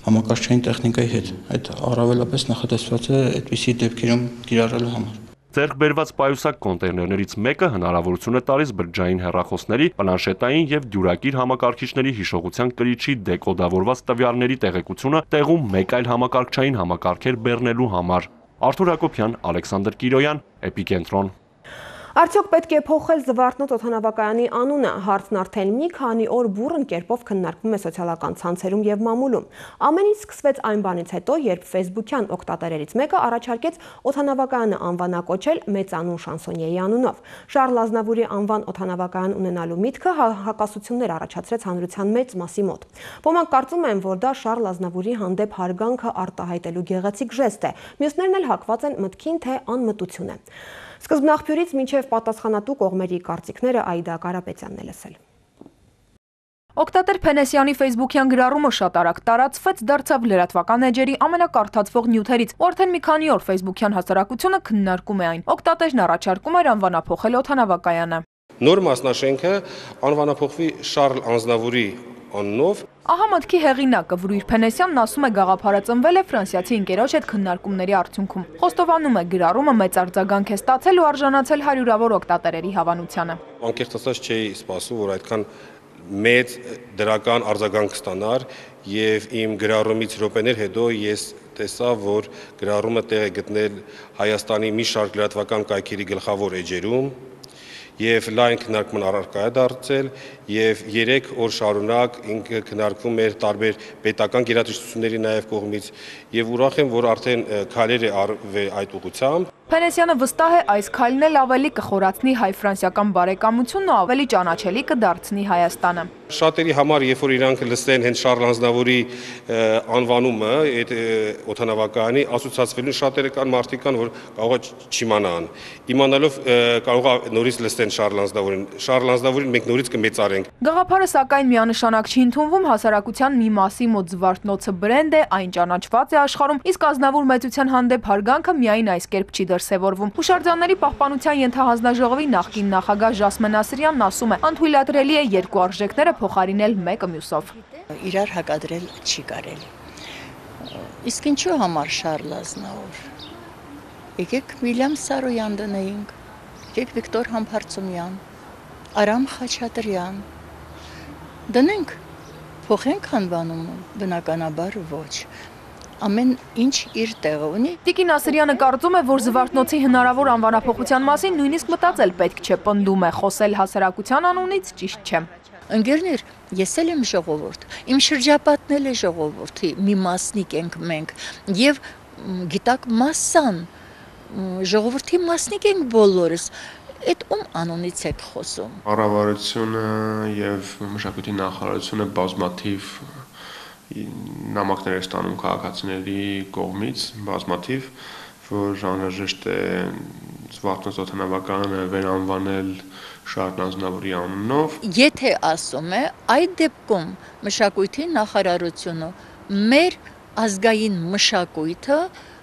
համակարգչային տեխնիկայի հետ։ Այդ առավելապես նախատեսված է այդպիսի դեպքերում կիրառելու համար։ Ձեռք բերված պայուսակ կոնտեյներներից մեկը հնարավորություն է տալիս բջջային հեռախոսների, պլանշետային եւ դյուրակիր համակարգիչների հիշողության կրիչի դեկոդավորված տվյալների տեղեկությունը տեղում մեկ այլ համակարգչային համակարգեր բեռնելու համար։ Արթուր Հակոբյան, Ալեքսանդր Կիրոյան, Էպիկենտրոն։ Արդյոք պետք է փոխել Զվարթնոց օդանավակայանի անունը, հարցն արդեն մի քանի օր բուռն կերպով քննարկվում է սոցիալական ցանցերում եւ մամուլում։ Ամեն ինչ սկսվեց այն բանից հետո, երբ ֆեյսբուքյան օգտատերերից մեկը առաջարկեց օդանավակայանը անվանակոչել մեծանուն շանսոնիեի անունով։ Շարլ Ազնավուրի անվան օդանավակայան ունենալու միտքը հակասություններ առաջացրեց հանրության մեծ մասի մոտ։ Ոմանք կարծում են, որ դա Շարլ Ազնավուրի հանդեպ հարգանքը արտահայտելու գեղեցիկ ժեստ է, մյուսներն էլ հակված են մտքին, թե անմտություն է։ Սկզբնաղբյուրից մինչև պատասխանատու կողմերի կարծիքները Այդա Կարապետյանն է լսել։ Օգտատեր Փենեսյանի ֆեյսբուքյան գրառումը շատ արագ տարածվեց, դարձավ լրատվական էջերի ամենակարդացվող նյութերից, ու արդեն մի քանի օր ֆեյսբուքյան հասարակությունը քննարկում է այն։ Օգտատերն առաջարկում էր անվանափոխել օդանավակայանը։ Նոր մասնաշենքը անվանափոխվի Շարլ Ազնավուրի անունով։ Ահա մտքի հեղինակը Վրույր Փենեսյանն ասում է, գաղափարը ծնվել է ֆրանսիացի ընկերոջ հետ քննարկումների արդյունքում։ Խոստովանում է, գրառումը մեծ արձագանք է ստացել ու արժանացել հարյուրավոր օգտատերերի հավանությանը։ Անկեղծ ասած չէի սպասում, որ այդքան մեծ դրական արձագանք ստանար, եւ իմ գրառումից րոպեներ հետո ես տեսա, որ գրառումը տեղ է գտնել Հայաստանի մի շարք լրատվական կայքերի գլխավոր էջերում եւ լայն քննարկման առարկա է դարձել եւ երեք օր շարունակ ինքը քննարկվում էր տարբեր պետական գերատեսչությունների նաեւ կողմից եւ ուրախ եմ, որ արդեն քայլեր է արվել այդ ուղղությամբ։ Փենեսյանը վստահ է, այս քայլն էլ ավելի կխորացնի հայ-ֆրանսիական բարեկամությունն ու ավելի ճանաչելի կդարձնի Հայաստանը։ Շատերի համար, երբ որ իրանք լսեն հենց Շարլ Ազնավուրի անվանումը, այդ օդանավակայանի ասոցացվելուն շատերը կան մարդիկ կան, որ կարող է չիմանան։ Իմանալով կարող է նորից լսեն Շարլ Ազնավուրին։ Շարլ Ազնավուրին մենք նորից կմեծարենք։ Գաղափարը սակայն միանշանակ չի ընդունվում, հասարակության մի մասի մոտ Զվարթնոցը բրենդ է, այն ճանաչված է աշխարհում, իսկ Ազնավուր մեծության հանդեպ հարգանքը միայն այս կերպ չի դրսևորվում։ Հուշարձանների պահպանության ենթահանձնաժողովի նախկին նախագահ Ժասմեն Ասրյանն ասում է, անթույլատրելի է երկու արժեքները փոխարինել մեկը մյուսով։ Իրար հակադրել չի կարելի։ Իսկ ինչու համար Շարլ Ազնավուր։ Եկեք Վիլյամ Սարոյան դնեինք, եկեք Վիկտոր Համբարձումյան, Արամ Խաչատրյան։ Դնենք, փոխենք անվանումը, բնականաբար ոչ։ Ամեն ինչ իր տեղը ունի։ Տիկին Ասրյանը կարծում է, որ Զվարթնոցի հնարավոր անվանափոխության մասին նույնիսկ մտածել պետք չէ, պնդում է, խոսել հասարակության անունից ճիշտ չէ։ Ընկերներ, ես էլ եմ ժողովուրդ, իմ շրջապատն էլ է ժողովրդի, մի մասնիկ ենք մենք, եւ գիտակ մասսան, ժողովրդի մասնիկ ենք բոլորս, այդ ում անունից եք խոսում։ Կառավարությունը եւ մշակույթի նախարարությունը բազմաթիվ նամակներ է ստանում քաղաքացիների կողմից, բազմաթիվ, որ անհրաժեշտ է Զվարթնոց օդանավակայանը վերանվանել Շարլ Ազնավուրի անունով։ Եթե ասում է, այդ դեպքում մշակույթի նախարարությունը մեր ազգային մշակույթը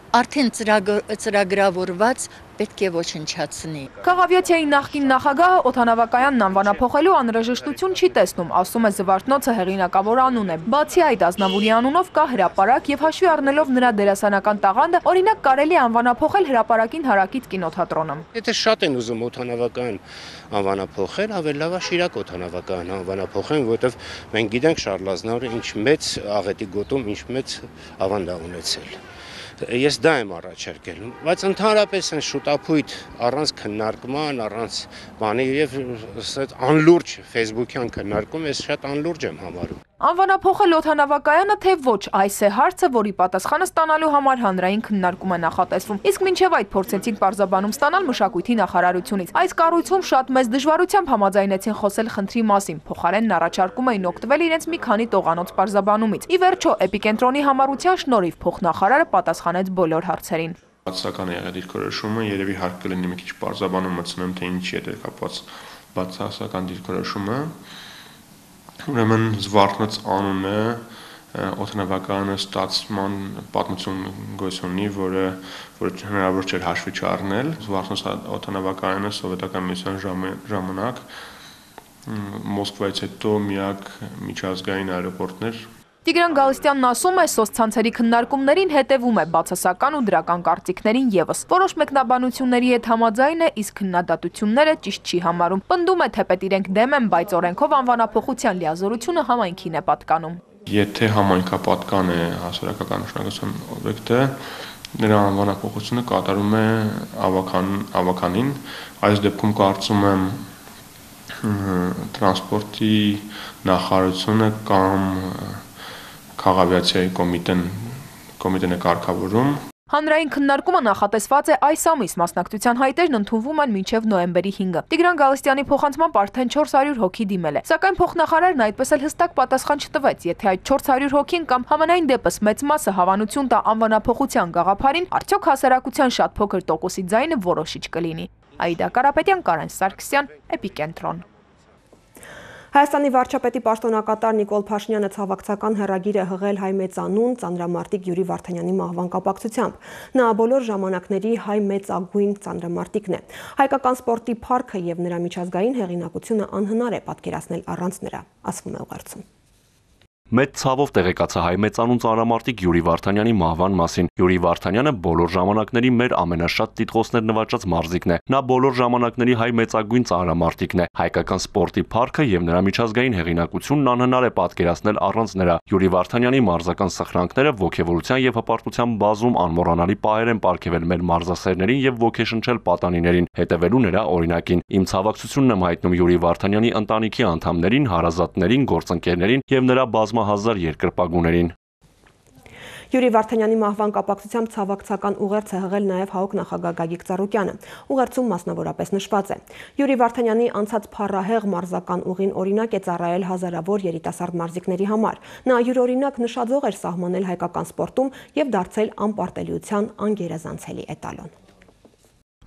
արդեն ծրագրավորված պետք է ոչնչացնի։ Քաղավիացիայի նախկին նախագահը օդանավակայանն անվանափոխելու անհրաժեշտություն չի տեսնում, ասում է Զվարթնոցը հեղինակավոր անուն է։ Բացի այդ, Ազնավուրի անունով կա հրապարակ եւ հաշվի առնելով նրա դերասանական տաղանդը, օրինակ կարելի է անվանափոխել հրապարակին հարակից կինոթատրոնը։ Եթե շատ են ուզում օդանավակայան անվանափոխել, ավելի լավ է Շիրակ օդանավակայան անվանափոխեն, որովհետեւ մենք գիտենք Շարլ Ազնավուրը ինչ մեծ աղետի գոտում, ինչ մեծ ավանդ է ունեցել։ Ես դա եմ առաջարկել, բայց ընդհանրապես են շուտապույտ առանց քննարկման, առանց բանի եւ անլուրջ ֆեյսբուքյան քննարկում, ես շատ անլուրջ եմ համարում։ Անվանափոխել օդանավակայանը թե ոչ, այս է հարցը, որի պատասխանը ստանալու համար հանրային քննարկում է նախատեսվում։ Իսկ մինչև այդ փորձեցինք պարզաբանում ստանալ մշակույթի նախարարությունից։ Այս կառույցում շատ մեծ դժվարությամբ համաձայնեցին խոսել խնդրի մասին, փոխարենն առաջարկում էին օգտվել իրենց մի քանի տողանոց պարզաբանումից։ Ի վերջո, Էպիկենտրոնի համառության շնորհիվ փոխնախարարը պատասխանեց բոլոր հարցերին։ Բացասական է եղել դիրքորոշումը, երևի հարկ կլինի մի քիչ պարզաբանում մտցնեմ, թե ինչի հետ է կապված բացասական դիրքորոշումը։ Ուրեմն Զվարթնոց անունը օդանավակայանը ստացման պատմություն գոյություն ունի, որը որ հնարավոր չէր հաշվի չառնել։ Զվարթնոց օդանավակայանը սովետական միության ժամանակ Մոսկվայից հետո միակ միջազգային այրոպորտն էր։ Տիգրան Գալստյանն ասում է, սոցցանցերի քննարկումներին հետևում է բացասական ու դրական կարծիքներին եւս։ Որոշ մեկնաբանությունների հետ համաձայն է, իսկ քննադատությունները ճիշտ չի համարում։ Պնդում է, թե պետք իրենք դեմ են, բայց օրենքով անվանափոխության լիազորությունը համայնքին է պատկանում։ Եթե համայնքապատկան է հասարակական նշանակության օբյեկտը, նրա անվանափոխությունը կատարում է ավական, ավականին, այս դեպքում կարծում եմ տրանսպորտի նախարարությունը կամ Քաղաքավիացիայի կոմիտեն կոմիտեն է կարգավորում։ Հանրային քննարկումը նախատեսված է այս ամիս, մասնակցության հայտերն ընդունվում են մինչև նոյեմբերի հինգը։ Տիգրան Գալստյանի փոխանցմամբ արդեն չորս հարյուր հոգի դիմել է, սակայն փոխնախարարն այդպես էլ հստակ պատասխան չտվեց, եթե այդ չորս հարյուր հոգին կամ համենայն դեպս մեծ մասը հավանություն տա անվանափոխության գաղափարին, արդյոք հասարակության շատ փոքր տոկոսի ձայնը որոշիչ կլինի։ Աիդա Կարապետյան, Կարեն Սարգսյան, Էպիկենտրոն։ Հայաստանի վարչապետի պաշտոնակատար Նիկոլ Փաշինյանը ցավակցական հեռագիր է հղել հայ մեծանուն ծանրամարտիկ Յուրի Վարդանյանի մահվան կապակցությամբ։ Նա բոլոր ժամանակների հայ մեծագույն ծանրամարտիկն է։ Հայկական սպորտի փառքը եւ նրա միջազգային հեղինակությունը անհնար է պատկերացնել առանց նրա, ասվում է ուղերձում։ Մեծ ցավով տեղեկացա հայ մեծանուն ծանրամարտիկ Յուրի Վարդանյանի մահվան մասին։ Յուրի Վարդանյանը բոլոր ժամանակների մեր ամենաշատ տիտղոսներ նվաճած մարզիկն է։ Նա բոլոր ժամանակների հայ մեծագույն ծանրամարտիկն է։ Հայկական սպորտի փառքը եւ նրա միջազգային հեղինակությունն անհնար է պատկերացնել առանց նրա։ Յուրի Վարդանյանի մարզական սխրանքները ողջևորության եւ հպարտության բազում անմոռանալի պահեր են պարգևել մեր մարզասերներին եւ ոգեշնչել պատանիներին, հետևելու նրա օրինակին։ Իմ ցավակցությունն եմ հայտնում Յուրի Վարդանյանի ընտանիքի անդամներին, հարազատներին, գործընկերներին եւ նրա բազմահազար երկրպագուներին։ Յուրի Վարդանյանի մահվան կապակցությամբ ցավակցական ուղերձ է հղել նաև ՀԱՕԿ նախագահ Գագիկ Ծառուկյանը։ Ուղերձում մասնավորապես նշված է. Յուրի Վարդանյանի անցած փառահեղ մարզական ուղին օրինակ է ծառայել հազարավոր երիտասարդ մարզիկների համար։ Նա յուրօրինակ նշաձող էր սահմանել հայկական սպորտում եւ դարձել անպարտելիության անգերազանցելի էտալոն։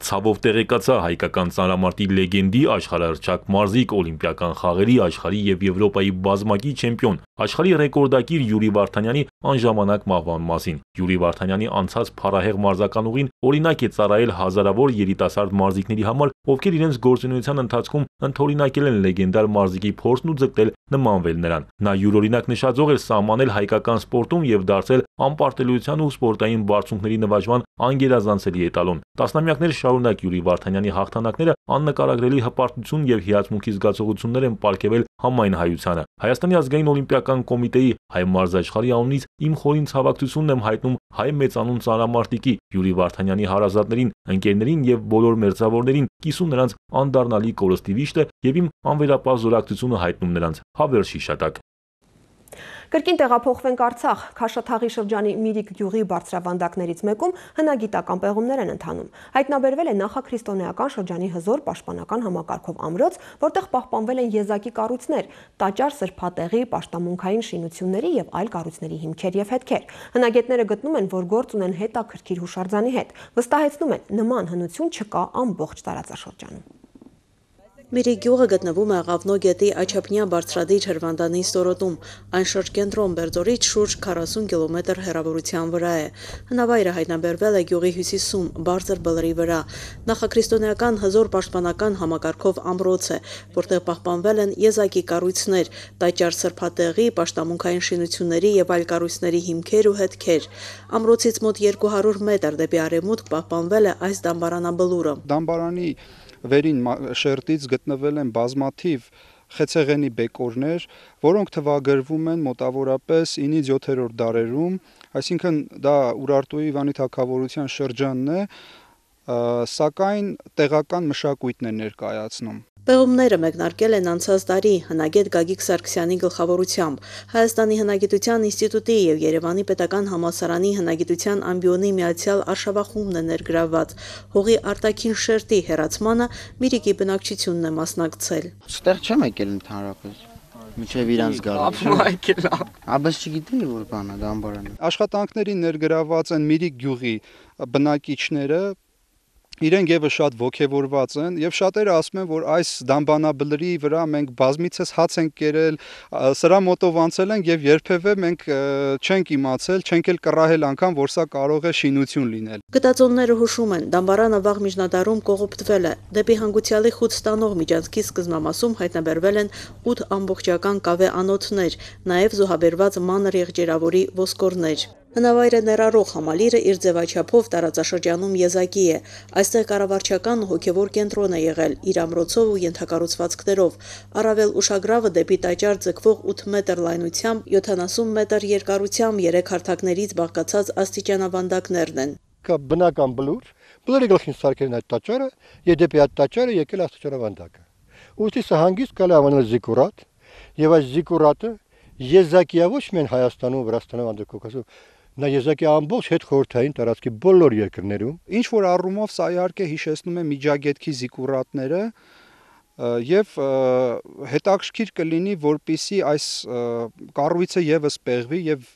Ցավով տեղեկացա հայկական ծանրամարտի լեգենդի աշխարհահռչակ մարզիկ, օլիմպիական խաղերի, աշխարհի եւ Եվրոպայի բազմակի չեմպիոն, աշխարհի ռեկորդակիր Յուրի Վարդանյանի անժամանակ մահվան մասին։ Յուրի Վարդանյանի անցած փառահեղ մարզական ուղին օրինակ է ծառայել հազարավոր երիտասարդ մարզիկների համար, ովքեր իրենց գործունեության ընթացքում ընդօրինակել են լեգենդար մարզիկի փորձն ու ձգտել նմանվել նրան։ Նա յուրօրինակ նշաձող էր սահմանել հայկական սպորտում եւ դարձել անպարտելիության ու սպորտային բարձունքների նվաճման անգերազանցելի էտալոն։ Տասնամյակներ շարունակ Յուրի Վարդանյանի հաղթանակները աննկարագրելի հպարտություն եւ հիացմունքի զգացողություններ են պարգևել համայն հայությանը։ Հայաստանի ազգային օլիմպիական կոմիտեի հայ մարզաշխարհի անունից իմ խորին ցավակցությունն եմ հայտնում հայ մեծանուն ծանրամարտիկի Յուրի Վարդանյանի հարազատներին, ընկերներին եւ բոլոր մերձավորներին, կիսում նրանց անդառնալի կորստի վիշտը եւ իմ անվերապահ զորակցությունը հայտնում նրանց հավերժ հիշատակ։ Կրկին տեղափոխվենք Արցախ, Քաշաթաղի շրջանի Միրիկ գյուղի բարձրավանդակներից մեկում հնագիտական պեղումներ են ընթանում։ Հայտնաբերվել է նախաքրիստոնեական շրջանի հզոր պաշտպանական համակարգով ամրոց, որտեղ պահպանվել են եզակի կառույցներ, տաճար, սրբատեղի, պաշտամունքային շինությունների եւ այլ կառույցների հիմքեր եւ հետքեր։ Հնագետները գտնում են, որ գործ ունեն հետաքրքիր հուշարձանի հետ։ Վստահեցնում են, նման հնություն չկա ամբողջ տարածաշրջանում։ Միրիկ գյուղը գտնվում է Աղավնո գետի Աչափնյա բարձրադիր հրվանդանի ստորոտում, այն շրջկենտրոն Բերձորից շուրջ քառասուն կիլոմետր հեռավորության վրա է։ Հնավայրը հայտնաբերվել է գյուղի հյուսիսում, բարձր բլրի վրա։ Նախաքրիստոնեական հզոր պաշտպանական համակարգով ամրոց է, որտեղ պահպանվել են եզակի կառույցներ, տաճար, սրբատեղի, պաշտամունքային շինությունների եւ այլ կառույցների հիմքեր ու հետքեր։ Ամրոցից մոտ երկու հարյուր մետր դեպի արևմուտք պահպանվել է այս դամբարանաբլուրը։ Դամբարանի վերին շերտից գտնվել են բազմաթիվ խեցեղենի բեկորներ, որոնք թվագրվում են մոտավորապես ինից յոթերորդ դարերում, այսինքն դա Ուրարտուի Իվանի թագավորության շրջանն է, սակայն տեղական մշակույթն է ներկայացնում։ Պեղումները մեկնարկել են անցած տարի հնագետ Գագիկ Սարգսյանի գլխավորությամբ։ Հայաստանի հնագիտության ինստիտուտի եւ Երևանի պետական համալսարանի հնագիտության ամբիոնի միացյալ արշավախումբն է ներգրավված։ Հողի արտաքին շերտի հեռացմանը Միրիկի բնակչությունն է մասնակցել։ Ստեղ չեմ եկել ընդհանրապես։ Միջև իրանց գալու։ Աբս չգիտեի որ բանա դամբարանը։ Աշխատանքների ներգրաված են Միրիկ գյուղի բնակիչները, Իրենք եւս շատ ողջևորված են եւ շատերը ասում են, որ այս դամբանաբլրի վրա մենք բազմիցս հաց ենք կերել, սրա մոտով անցել ենք եւ երբեւե մենք չենք իմացել, չենք էլ կռահել անգամ, որ սա կարող է շինություն լինել։ Գտածոնները հուշում են, դամբարանը վաղ միջնադարում կողոպտվել է։ Դեպի հանգուցյալի խուտ ստանող միջանցքի սկզբնամասում հայտնաբերվել են ութ ամբողջական կավե անոթներ, նաեւ զոհաբերված մանր եղջերավորի ոսկորներ։ Հնավայրը ներառող համալիրը իր ձևաչափով տարածաշրջանում եզակի է։ Այստեղ կառավարչական հոգևոր կենտրոն է եղել իր ամրոցով ու ենթակառուցվածքներով։ Առավել ուշագրավը դեպի տաճար ձգվող ութ մետր լայնությամբ, յոթանասուն մետր երկարությամբ երեք հարթակներից բաղկացած աստիճանավանդակներն են։ Կա բնական բլուր, բլուրի գլխին սարքերն այդ տաճարը, եւ դեպի այդ տաճարը եկել աստիճանավանդակը։ Ուստի սա հանգիստ կարելի անվանել զիկուրատ, եւ այս զիկուրատը եզակիա ոչ միայն Հայաստանում, Վրաստանում, Անդրկովկասում, նա եզակի ամբողջ հետ խորհրդային տարածքի բոլոր երկրներում։ Ինչ որ առումով սա իհարկե հիշեցնում է Միջագետքի զիկուրատները եւ հետաքրքիր կլինի, որպիսի այս կառույցը եւս պեղվի եւ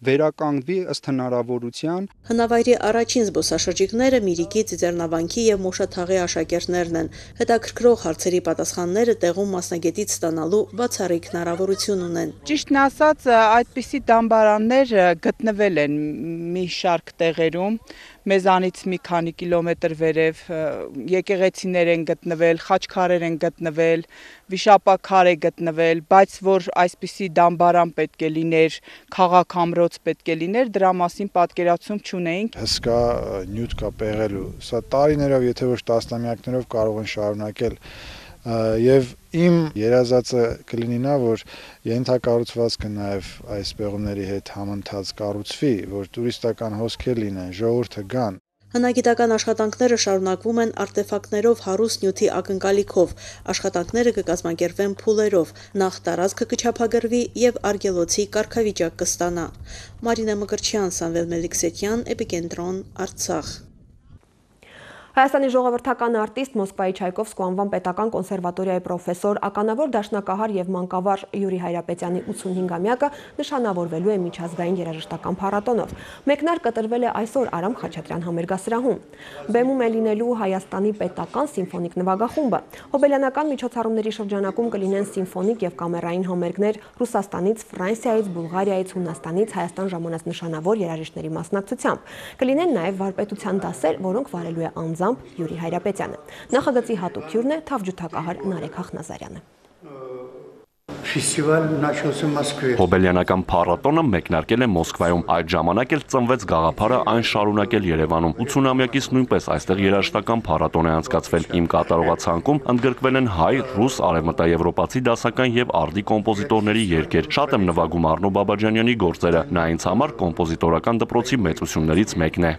վերականգնվի ըստ հնարավորության։ Հնավայրի առաջին զբոսաշրջիկները Միրիկի, Ծիծեռնավանքի եւ Մոշաթաղի աշակերտներն են։ Հետաքրքրող հարցերի պատասխանները տեղում մասնագետից ստանալու բացառիկ հնարավորություն ունեն։ Ճիշտն ասած, այդպիսի դամբարաններ գտնվել են մի շարք տեղերում, մեզանից մի քանի կիլոմետր վերև, եկեղեցիներ են գտնվել, խաչքարեր են գտնվել, վիշապաքար է գտնվել, բայց որ այսպիսի դամբարան պետք է լիներ, քաղաք ամրոց պետք է լիներ, դրա մասին պատկերացում չունեինք։ Հսկա նյութ կա պեղելու, սա տարիներով, եթե ոչ տասնամյակներով կարող են շարունակել եւ իմ երազածը կլինի նա, որ ենթակառուցվածքը նաեւ այս պեղումների հետ համընթաց կառուցվի, որ տուրիստական հոսքեր լինեն, ժողովուրդը գան։ Հնագիտական աշխատանքները շարունակվում են արտեֆակտներով հարուստ նյութի ակնկալիքով։ Աշխատանքները կկազմակերպվեն փուլերով, նախ տարածքը կչափագրվի եւ արգելոցի կարգավիճակ կստանա։ Մարինա Մկրտչյան, Սամվել Մելիքսեթյան, Էպիկենտրոն, Արցախ։ Հայաստանի ժողովրդական արտիստ Մոսկվայի Չայկովսկու անվան պետական կոնսերվատորիայի պրոֆեսոր, ականավոր դաշնակահար եւ մանկավար Յուրի Հայրապետյանի ութսունհինգամյակը նշանավորվելու է միջազգային երաժշտական փառատոնով։ Մեկնարկը տրվել է այսօր Արամ Խաչատրյան համերգասրահում։ Բեմում է լինելու Հայաստանի պետական սիմֆոնիկ նվագախումբը։ Հոբելյանական միջոցառումների շրջանակում կլինեն սիմֆոնիկ եւ կամերային համերգներ Ռուսաստանից, Ֆրանսիայից, Բուլղարիայից, Հունաստանից Հայաստան ժամանած նշանավոր երաժիշտների մասնակցությամբ։ Կլինեն նաեւ վարպետության դասեր, որոնք վարելու է անձամբ Յուրի Հայրապետյանը։ Նախագծի հատուկ հյուրն է թավջութակահար Նարեկ Հախնազարյանը։ Հոբելյանական փառատոնը մեկնարկել է Մոսկվայում, այդ ժամանակ էլ ծնվեց գաղափարը այն շարունակել Երևանում։ ութսունամյակից նույնպես այստեղ երաժշտական փառատոն է անցկացվել։ Իմ կատարողացանկում ընդգրկվել են հայ, ռուս, արևմտաեվրոպացի դասական եւ արդի կոմպոզիտորների երգեր։ Շատ եմ նվագում Արնո Բաբաջանյանի գործերը, նա ինձ համար կոմպոզիտորական դպրոցի մեծություններից մեկն է։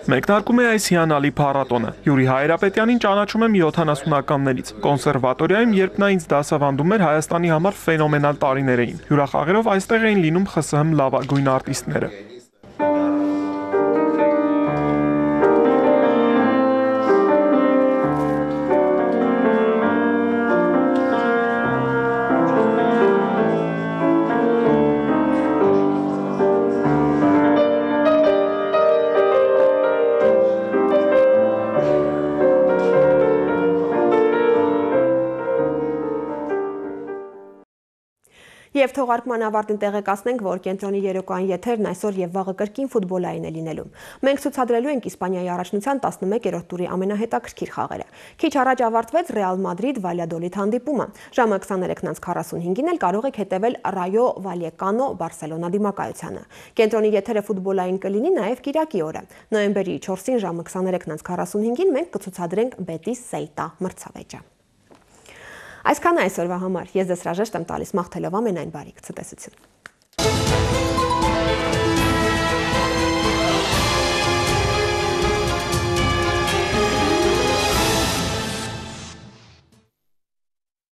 Մեկնարկում է այս հիանալի փառատոնը։ Յուրի Հայրապետյանին ճանաչում եմ յոթանասունականներից։ Կոնսերվատորիայում, երբ նա ինձ դասավանդում էր, Հայաստանի համար ֆենոմենալ տարիներ էին։ Հյուրախաղերով այստեղ էին լինում Խ Ս Հ լավագույն արտիստները։ Եվ թողարկման ավարտին տեղեկացնենք, որ կենտրոնի երեկոյան եթերն այսօր եւ վաղը կրկին ֆուտբոլային է լինելու։ Մենք ցուցադրելու ենք Իսպանիայի առաջնության տասնմեկերորդ տուրի ամենահետաքրքիր խաղերը։ Քիչ առաջ ավարտվեց Ռեալ Մադրիդ Վալյադոլիդ հանդիպումը։ Ժամը քսաներեքն քառասունհինգին էլ կարող եք հետևել Ռայո Վալյեկանո Բարսելոնա դիմակայությանը։ Կենտրոնի եթերը ֆուտբոլային կլինի նաեւ կիրակի օրը։ Նոյեմբերի չորսին ժամը քսաներեքն քառասունհինգին մենք կցուցադրենք Բետիս Սեյտա մրցավեճը։ Այսքան այսօրվա համար։ Ես ձեզ հրաժեշտ եմ տալիս մաղթելով ամենայն բարիք ցտեսություն։